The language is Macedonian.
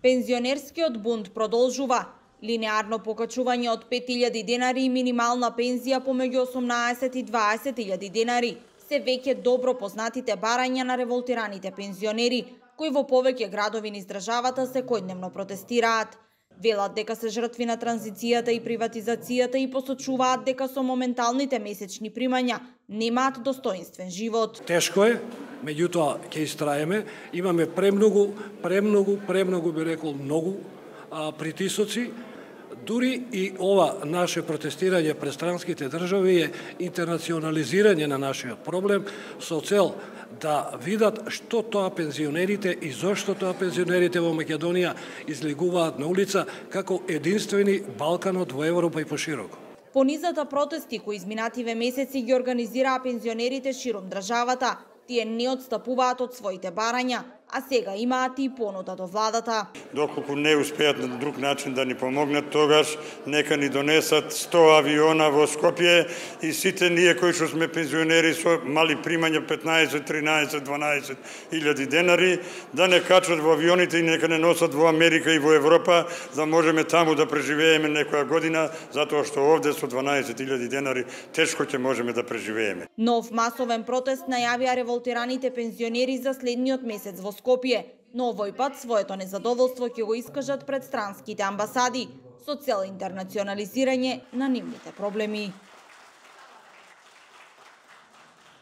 Пензионерскиот бунт продолжува. Линеарно покачување од 5.000 денари и минимална пензија помеѓу 18 и 20.000 денари се веќе добро познатите барања на револтираните пензионери, кои во повеќе градови низ државата секојдневно протестираат. Велат дека се жртви на транзицијата и приватизацијата и посочуваат дека со моменталните месечни примања немаат достоинствен живот. Тешко е, меѓутоа ќе истраеме. Имаме премногу би рекол многу притисоци. Дури и ова наше протестирање пред странските држави е интернационализирање на нашиот проблем со цел да видат што тоа пензионерите и зошто тоа пензионерите во Македонија излегуваат на улица како единствени Балканот во Европа и пошироко. По низата протести кои изминативе месеци ги организираа пензионерите широм државата, тие не отстапуваат од своите барања, а сега имаат и понуда до владата. Доколку не успеат на друг начин да ни помогнат, тогаш нека ни донесат 100 авиона во Скопје и сите ние кои што сме пензионери со мали примања 15, 13, 12 илјади денари, да не качат во авионите и нека не носат во Америка и во Европа, да можеме таму да преживееме некоја година, затоа што овде со 12.000 денари тешко ќе можеме да преживееме. Нов масовен протест најавија револтираните пензионери за следниот месец во Скопје, но овој пат своето незадоволство ќе го искажат пред странските амбасади со цел интернационализирање на нивните проблеми.